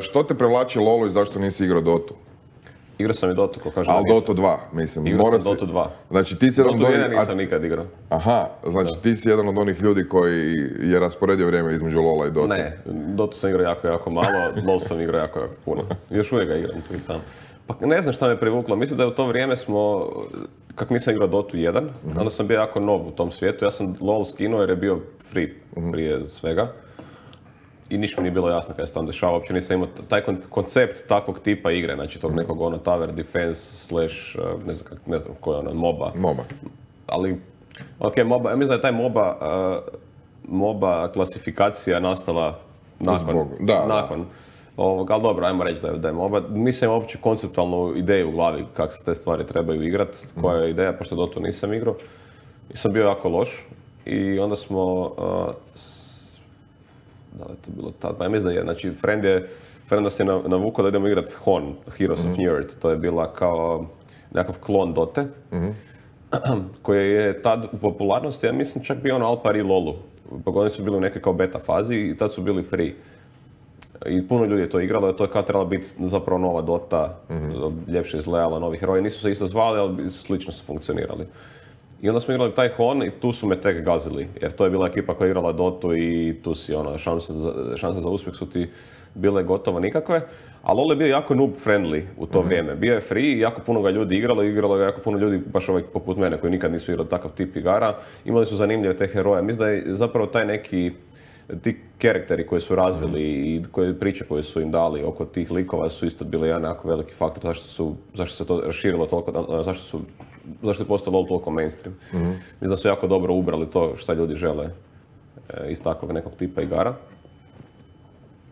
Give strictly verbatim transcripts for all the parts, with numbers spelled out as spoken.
Što te privlači lolu i zašto nisi igrao Dotu? Igrao sam i Dotu, ko kažem. Ali Dota dva, mislim. Igrao sam si... Dota dva. Znači ti si jedan Dota od onih... jedan nisam nikad igrao. Aha, znači da. Ti si jedan od onih ljudi koji je rasporedio vrijeme između Lola i Dota. Ne, Dotu sam igrao jako, jako malo, LoL sam igrao jako, jako puno. Još uvijek ga igram tu i tamo. Pa ne znam šta me privuklo, mislim da je u to vrijeme smo, kako nisam igrao Dotu jedan, mm-hmm. onda sam bio jako nov u tom svijetu, ja sam LoL skinuo jer je bio free mm-hmm. prije svega. I ništa mi nije bilo jasno kada se tam dešava, uopće nisam imao taj koncept takvog tipa igre, znači tog nekog ono tower defense slash, ne znam, kak, ne znam koji je ono, MOBA. MOBA. Ali, ok, MOBA, ja mislim da je taj MOBA, uh, MOBA klasifikacija nastala nakon. Da, nakon. Da. Ovog, ali dobro, ajmo reći da je, da je MOBA. Nisam imao uopće konceptualnu ideju u glavi kako se te stvari trebaju igrati, koja je ideja, pošto Dotu nisam igrao. I sam bio jako loš. I onda smo, uh, s... da li je to bilo tad? Pa ja mislim da je, znači, friend je, friend nas je navukao da idemo igrati H O N, Heroes mm-hmm. of New Earth. To je bila kao nekakav klon Dote, mm-hmm. koji je tad u popularnosti, ja mislim čak bio ono al pari Lolu. Pa oni su bili u nekoj kao beta fazi i tad su bili free. I puno ljudi je to igralo, to je kao trebala biti zapravo nova Dota, mm-hmm. ljepše izgledala, novi heroji. Nisu se isto zvali, ali slično su funkcionirali. I onda smo igrali taj H O N i tu su me tek gazili, jer to je bila ekipa koja je igrala Dotu i tu si ono, šanse za, šanse za uspjeh su ti bile gotovo nikakve. Ali LoL je bio jako noob friendly u to mm-hmm. vrijeme. Bio je free i jako puno ga ljudi igralo, igralo ga jako puno ljudi, baš ovaj poput mene, koji nikad nisu igrali takav tip igara. Imali su zanimljive te heroje. Mislim da je zapravo taj neki ti karakteri koji su razvili i koje priče koje su im dali oko tih likova su isto bili jedan jako veliki faktor zašto, su, zašto se to raširilo toliko, zašto, su, zašto je postao LoL toliko mainstream. Mm-hmm. Mislim da su jako dobro ubrali to što ljudi žele e, iz takvog nekog tipa igara.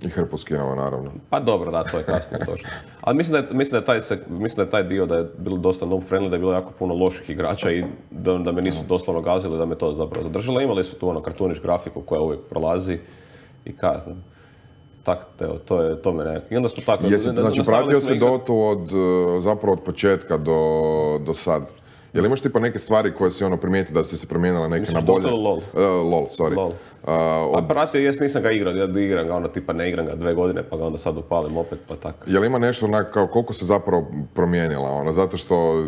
I hrpu skinova, naravno. Pa dobro, da, to je kasnije točno. Ali mislim da je, mislim da je, taj, mislim da je taj dio da je bilo dosta noob friendly, da je bilo jako puno loših igrača i da, da me nisu doslovno gazili, da me to zapravo zadržalo. Imali su tu ono kartuniš grafiku koja uvijek prolazi i kazne. Tak, teo, to je to me nekako. I onda smo tako... Jesi, znači, pratio si Dotu od, zapravo od početka do, do sad? Jel imaš tipa neke stvari koje si ono primijetio da si se promijenila neke Misliš na bolje? Misliš LoL? Uh, LoL, sorry. LoL. Uh, od... Pa pratio, jes nisam ga igrao, ja igram ga ono tipa ne igram ga dve godine pa ga onda sad upalim opet pa tako. Jel ima nešto onak kao koliko se zapravo promijenila ono, zato što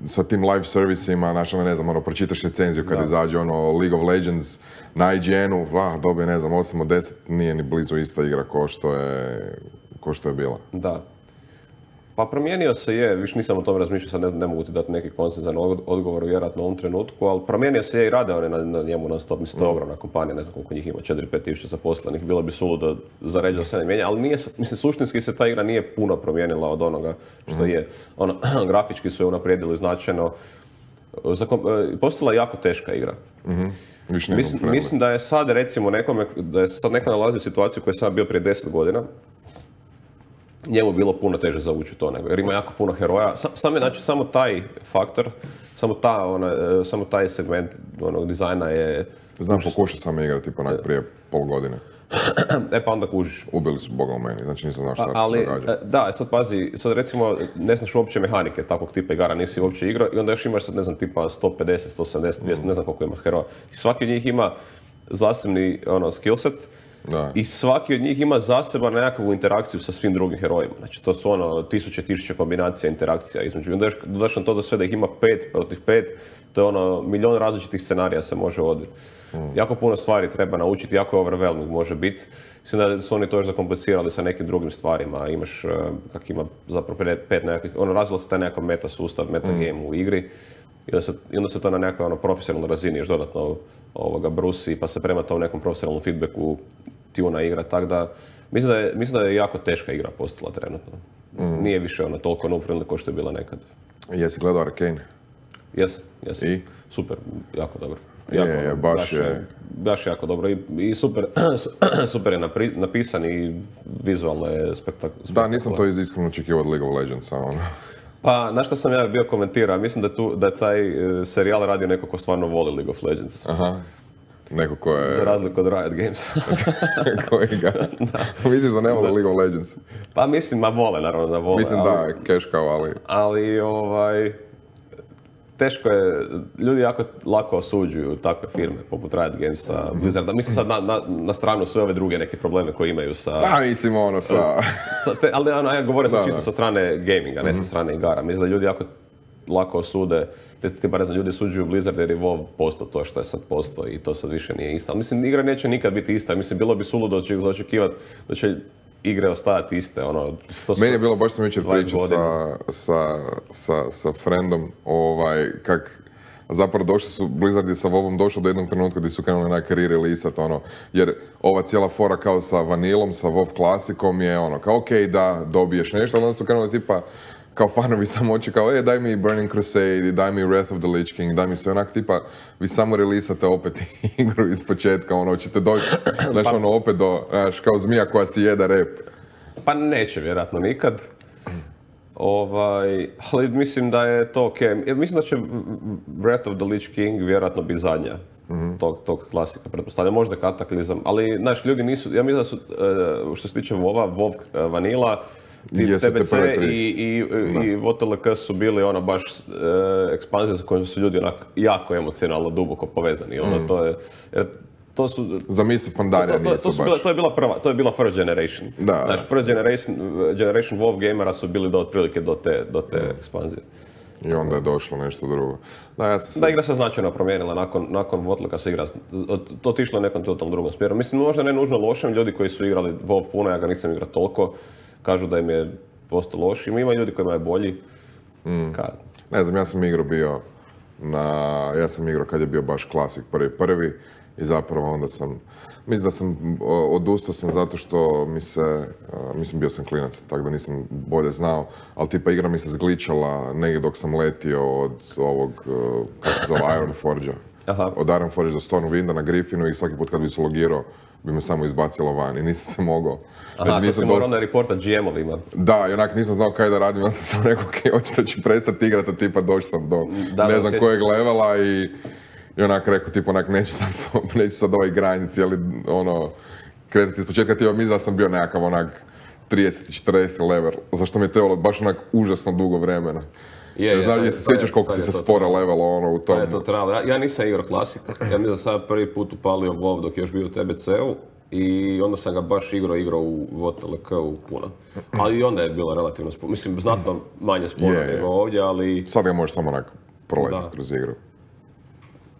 sa tim live servisima, znaš, ono, ne znam, ono, pročitaš recenziju kad da. izađe ono League of Legends na I G N-u, ah, dobije, ne znam, osam od deset, nije ni blizu ista igra ko što je, ko što je bila. Da. Pa promijenio se je, više nisam o tome razmišljao, sad ne, znam, ne mogu ti dati neki koncizan odgovor vjerojatno u ovom trenutku, ali promijenio se je i rade oni na, na njemu non stop, mislim, to je ogromna kompanija, ne znam koliko njih ima, četiri do pet tisuća zaposlenih, bilo bi suludo za reći da se ne mijenja, ali nije, mislim, suštinski se ta igra nije puno promijenila od onoga što je. Ono, grafički su je unaprijedili značajno, postala je jako teška igra. Mm-hmm. Mislim, mislim da je sad recimo nekome, da je sad neko nalazi u situaciju koja je sad bio prije deset godina, njemu bilo puno teže zavući to nego, jer ima jako puno heroja. Sam je, znači, samo taj faktor, samo, ta, ona, samo taj segment onog dizajna je... Znam, pokušao sam igrati pa prije pol godine. E pa onda kužiš. Ubili su Boga u meni, znači nisam znao šta ali, se događa. Da, sad pazi, sad recimo ne znaš uopće mehanike takvog tipa igara, nisi uopće igrao i onda još imaš sad, ne znam, tipa sto pedeset, sto sedamdeset, dvjesto, mm. ne znam koliko ima heroja. I svaki od njih ima zasebni ono, skillset. Da. I svaki od njih ima zaseban nekakvu interakciju sa svim drugim herojima. Znači to su ono tisuće, tisuće kombinacija, interakcija između. I onda još dodaš na to da sve da ih ima pet protiv pet, to je ono milion različitih scenarija se može odviti. Mm. Jako puno stvari treba naučiti, jako je overwhelming može biti. Mislim da su oni to još zakomplicirali sa nekim drugim stvarima. Imaš, kak ima zapravo pet nekakvih, ono razvilo se taj nekakav meta sustav, meta game mm. u igri. I onda se, i onda se to na nekoj ono, profesionalnoj razini još dodatno ovoga brusi, pa se prema tom nekom profesionalnom feedbacku tuna igra, tako da mislim da, je, mislim da je jako teška igra postala trenutno. Mm. Nije više ono toliko noob friendly kao što je bila nekad. Jesi gledao Arcane? Jesam, jesam. I? Super, jako dobro. Jako, je, je, baš, baš je. Baš jako dobro i, i super, super je napri, napisan i vizualno je spektakularno. Da, nisam to iskreno očekivao od League of Legendsa. Ono. Pa, na što sam ja bio komentirao, mislim da, tu, da je taj e, serijal radio neko ko stvarno voli League of Legends. Aha. Neko ko je... Za razliku od Riot Games. Koji ga? Mislim da ne vole League of Legends. Pa mislim, ma vole, naravno da vole. Mislim ali, da, cash kao, ali... Ali, ovaj... teško je, ljudi jako lako osuđuju takve firme, poput Riot Gamesa, Blizzarda. Mislim sad na, na, na stranu sve ove druge neke probleme koje imaju sa... Da, mislim ono sa... sa te, ali ono, ja govorim sad čisto da. sa strane gaminga, ne mm-hmm. sa strane igara. Mislim da ljudi jako lako osude, ti ne znam, ljudi suđuju Blizzard jer je WoW postao to što je sad postao i to sad više nije isto. Ali mislim, igra neće nikad biti ista. Mislim, bilo bi suludo za očekivati da će igre ostajati iste. Ono, to Meni je bilo, baš sam jučer pričao sa, sa, sa, sa friendom, ovaj, kak zapravo došli su, Blizzard je sa WoWom došao do jednog trenutka gdje su krenuli na career release-at, ono, jer ova cijela fora kao sa Vanilom, sa WoW klasikom je ono, kao okej okay, da dobiješ nešto, ali onda su krenuli tipa, kao fanovi samo oči, kao e, daj mi Burning Crusade, daj mi Wrath of the Lich King, daj mi sve onak tipa, vi samo releasate opet igru iz početka, ono, ćete doći, znaš, ono, opet do, znaš, kao zmija koja si jeda rep. Pa neće vjerojatno nikad. Ovaj, ali mislim da je to okej. Okay. Mislim da će Wrath of the Lich King vjerojatno biti zadnja mm-hmm. tog, tog klasika, pretpostavljam, možda Kataklizam, ali, znaš, ljudi nisu, ja mislim da su, što se tiče WoW-a, WoW Vanilla, T B C i, i, i V T L K su bili ono baš e, ekspanzije sa kojim su ljudi onak jako emocionalno duboko povezani. Ono, mm. to je, jer to su... Za misli Pandaria to, to, nisu to, to baš. Bila, to je bila prva, to je bila first generation. Da. Znači, first generation, generation WoW gamera su bili do otprilike do te, do te mm. ekspanzije. I onda je došlo nešto drugo. Da, ja sam... da igra se značajno promijenila nakon, nakon V T L K-a se igra, to otišlo je nekom tom drugom smjeru. Mislim, možda ne nužno lošem, ljudi koji su igrali WoW puno, ja ga nisam igrao toliko, kažu da im je postao loš. Ima ljudi koji imaju bolji. Mm. Ne znam, ja sam igrao bio na... Ja sam igrao kad je bio baš klasik prvi prvi i zapravo onda sam... Mislim da sam... Odustao sam zato što mi se... Mislim, bio sam klinac, tako da nisam bolje znao, ali tipa igra mi se zgličala negdje dok sam letio od ovog... Kako se zove, Ironforgea. Aha. Od Ironforgea do Stormwinda na Griffinu i svaki put kad bi se logirao bi me samo izbacilo van i nisam se mogao. Aha, znači, to si morao onda reportat G M-ovima. Da, i onak nisam znao kaj da radim, ja sam samo rekao, ok, očito ću prestati igrati, tipa došao sam do da, ne znam kojeg levela i, i onak rekao, tipa onak neću sad, neću sad ovaj grind cijeli, ono, kretati iz početka, tipa mislim da sam bio nekakav onak trideset četrdeset level, zašto mi je trebalo baš onak užasno dugo vremena. Je, je, znam, se sjećaš koliko si se spora level ono u tom. Je to trebalo. Ja, ja nisam igrao klasik, ja mislim da sam prvi put upalio WoW dok je još bio u T B C-u i onda sam ga baš igrao, igrao u V T L K-u puno. Ali i onda je bilo relativno sporo, mislim znatno manje sporo yeah, nego ovdje, ali... Sad ga možeš samo onak proletiti kroz igru.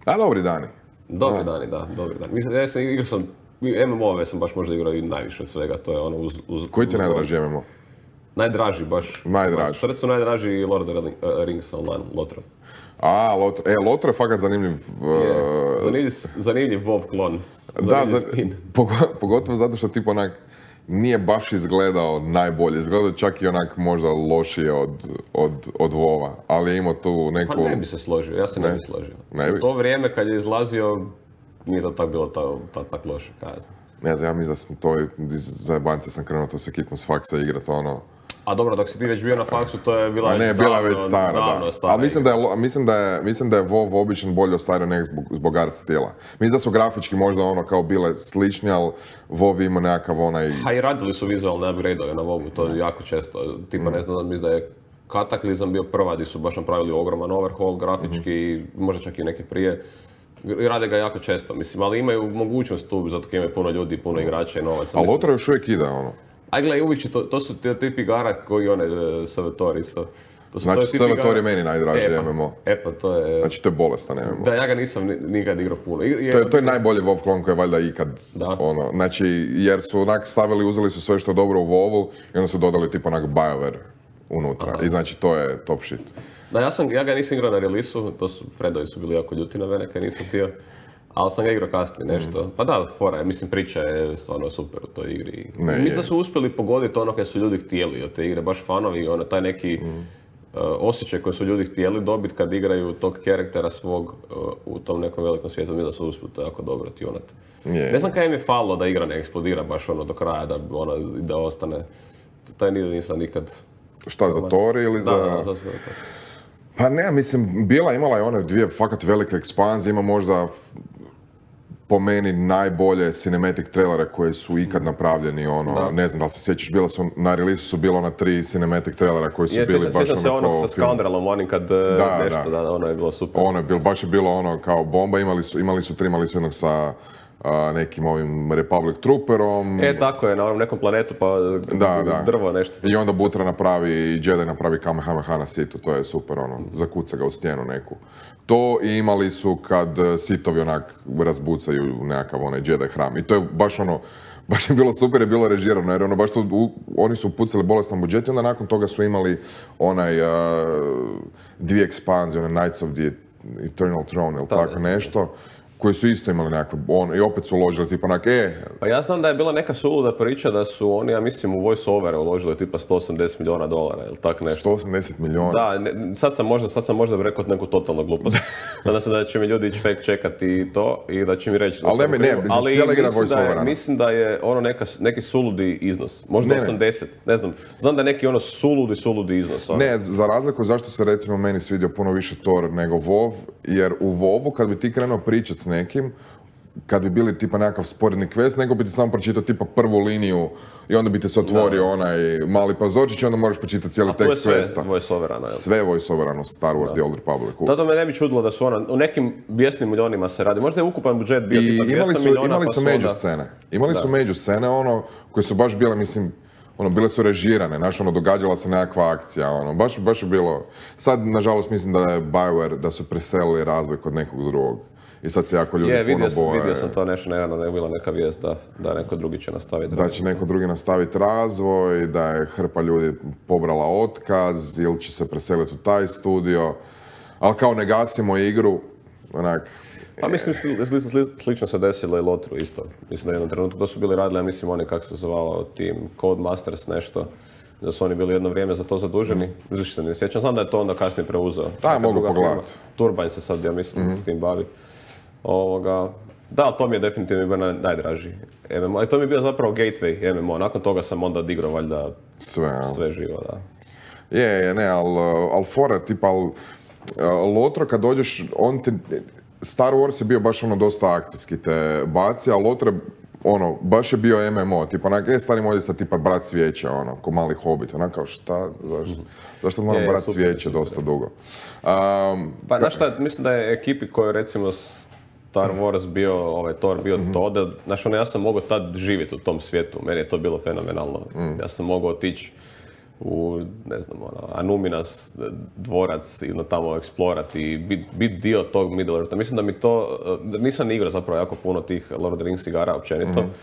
A dobri dani. Dobri dani, da, dobri dani. Mislim, ja sam igrao sam, M M O-ove sam baš možda igrao i najviše od svega, to je ono uz... uz Koji ti je najdraži M M O? Najdraži baš. Najdraži. Srcu najdraži Lord of the Rings Online, Lothar. A, Lothar, e, Lothar je fakat zanimljiv. Uh... Yeah. Zanimljiv, zanimljiv WoW klon. Da, za, pogotovo zato što tip onak nije baš izgledao najbolje. Izgledao čak i onak možda lošije od, od, od WoW-a, ali je imao tu neku... Pa ne bi se složio, ja se ne, ne bi složio. Ne bi? U to vrijeme kad je izlazio, nije to tako bilo tako ta, ta, loše, kazna. Ne znam, ja mislim da sam to, iz zajebance sam krenuo to se kitnu s faksa igrat, ono... A dobro, dok si ti već bio na faksu, to je bila već ne, bila davno, već stara, davno da. stara. Ali mislim da, je, mislim, da je, mislim da je WoW obično bolje ostario nek zbog, zbog art stila. Mislim da su grafički možda ono kao bile slični, ali WoW ima nekakav onaj... Ha i radili su vizualne upgrade-ove na WoW-u, to je jako često. Tipa mm. ne znam, mislim da je Kataklizam bio prva gdje su baš napravili ogroman overhaul grafički, mm. možda čak i neke prije. I rade ga jako često, mislim, ali imaju mogućnost tu, zato kad imaju puno ljudi, puno igrača i novaca. Ali Lothar još uvijek ide, ono. Aj gledaj, uvijek će to, to su te tip igara koji one S V T O R isto. To su, znači S V T O R je meni najdraži e, M M O. E pa to je... Znači to je bolestan M M O. Da, ja ga nisam nikad igrao puno. I, to je, to je najbolji WoW klon koji je valjda ikad, da. Ono, znači jer su onak stavili, uzeli su sve što je dobro u WoW-u i onda su dodali tipa onak BioWare unutra. Aha. I znači to je top shit. Da, ja, sam, ja ga nisam igrao na release-u, to su, Fredovi su bili jako ljuti na mene kad nisam htio. Ali sam ga igrao kasnije nešto. Mm. Pa da, fora je, mislim priča je stvarno super u toj igri. Ne, mislim je. Da su uspjeli pogoditi ono kad su ljudi htjeli od te igre, baš fanovi, ono, taj neki mm. uh, osjećaj koji su ljudi htjeli dobiti kad igraju tog karaktera svog uh, u tom nekom velikom svijetu, mislim da su uspjeli to jako dobro tionati. Ne znam kaj im je falilo da igra ne eksplodira baš ono do kraja, da, ono, da ostane. Taj nisam nikad... Šta, za Tori ili za... Da, da, za sve to. Pa ne, mislim, bila imala je one dvije fakat velike ekspanzije, ima možda po meni najbolje cinematic trailere koje su ikad napravljeni, ono, da. Ne znam da li se sjećaš, bila su, na release su bilo na tri cinematic trailera koji su je, bili sjećam, baš sjećam ono se onog sa Scoundrelom, onim kad da, nešto, da. da, ono je bilo super. Ono je bilo, baš je bilo ono kao bomba, imali su, imali su tri, imali su jednog sa a, nekim ovim Republic Trooperom. E, tako je, na onom nekom planetu, pa da, da. drvo nešto. I onda Butra napravi, i Jedi napravi Kamehameha na Situ, to je super, ono, zakuca ga u stijenu neku. To i imali su kad Sitovi onak razbucaju nekakav onaj Jedi hram. I to je baš ono, baš je bilo super, je bilo režirano, jer ono, baš su, u, oni su pucali bolestan budžet i onda nakon toga su imali onaj uh, dvije ekspanzije, onaj Knights of the Eternal Throne ili tako nešto, koji su isto imali nekakve, on, i opet su uložili tipa onak, e... Pa ja znam da je bila neka suluda priča da su oni, ja mislim, u voice-overe uložili tipa sto osamdeset milijuna dolara ili tak nešto. sto osamdeset milijuna? Da, ne, sad sam možda, sad sam možda rekao neku totalnu glupost. Nadam se da će mi ljudi ići fact čekati to i da će mi reći... Ali ne, ne, ali cijela igra mislim, da je, voice-overa. mislim da je ono neka, neki suludi iznos, možda ne, osamdeset, ne znam. Znam da je neki ono suludi, suludi iznos. Ono. Ne, za razliku zašto se recimo meni svidio puno više Thor nego WoW, jer u WoWu kad bi ti krenuo pričat s nekim, kad bi bili tipa nekakav sporedni quest, nego bi ti samo pročitao tipa prvu liniju i onda bi ti se otvorio da. Onaj mali pazorčić i onda moraš pročitati cijeli tekst questa. A to je sve voice-overano, jel? Sve voice-overano Star Wars da. The Old Republic. Tada me ne bi čudilo da su ono, u nekim bijesnim milionima se radi. Možda je ukupan budžet bio tipa dvjesto milijuna. Imali pa su među scene. Imali da. su među scene, ono, koje su baš bile, mislim, ono, bile su režirane, znaš, ono, događala se nekakva akcija, ono, baš, baš je bilo... Sad, nažalost, mislim da je BioWare, da su preselili razvoj kod nekog drugog. I sad se jako ljudi je, puno vidio, boje. vidio sam to nešto nerano, da je bila neka vijest da, da neko drugi će nastaviti. Da će neko drugi nastaviti razvoj, da je hrpa ljudi pobrala otkaz ili će se preseliti u taj studio. Ali kao ne gasimo igru, onak... Pa mislim, sli, sli, sli, slično se desilo i Lotru isto. Mislim da je jednom trenutku to su bili radili, ja mislim oni kako se zvao tim Codemasters nešto. Da su oni bili jedno vrijeme za to zaduženi. Mm. Više se ne sjećam, znam da je to onda kasnije preuzeo. Da, mogu pogledati. Turbine se sad, ja mislim, mm-hmm. s tim bavi. Ovoga, da, to mi je definitivno bio najdraži M M O. I to mi je bio zapravo gateway M M O. Nakon toga sam onda odigrao valjda sve, sve živo, da. Je, je, ne, ali al fora, tipa, al, Lotro kad dođeš, on ti, Star Wars je bio baš ono dosta akcijski te baci, a Lotro ono, baš je bio M M O, tipa, onak, e, stari moj sad tipa brat cvijeća, ono, ko mali Hobbit, onak, kao šta, zašto, zašto moram brat cvijeće dosta dugo. Um, pa, znaš šta, mislim da je ekipi koju, recimo, Star Wars bio, ovaj Thor bio mm-hmm. to, da, znaš, ono, ja sam mogao tad živjeti u tom svijetu, meni je to bilo fenomenalno. Mm. Ja sam mogao otići u, ne znam, ono, Anuminas dvorac i tamo eksplorati i biti bit dio tog Middle-eartha. Mislim da mi to, nisam ni igrao zapravo jako puno tih Lord of the Rings igara općenito, mm-hmm.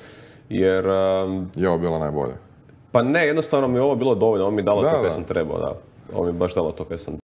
jer... Um, je ovo bilo najbolje? Pa ne, jednostavno mi ovo bilo dovoljno, ovo mi dalo da, to kaj sam trebao, da. Ovo mi baš dalo to kaj sam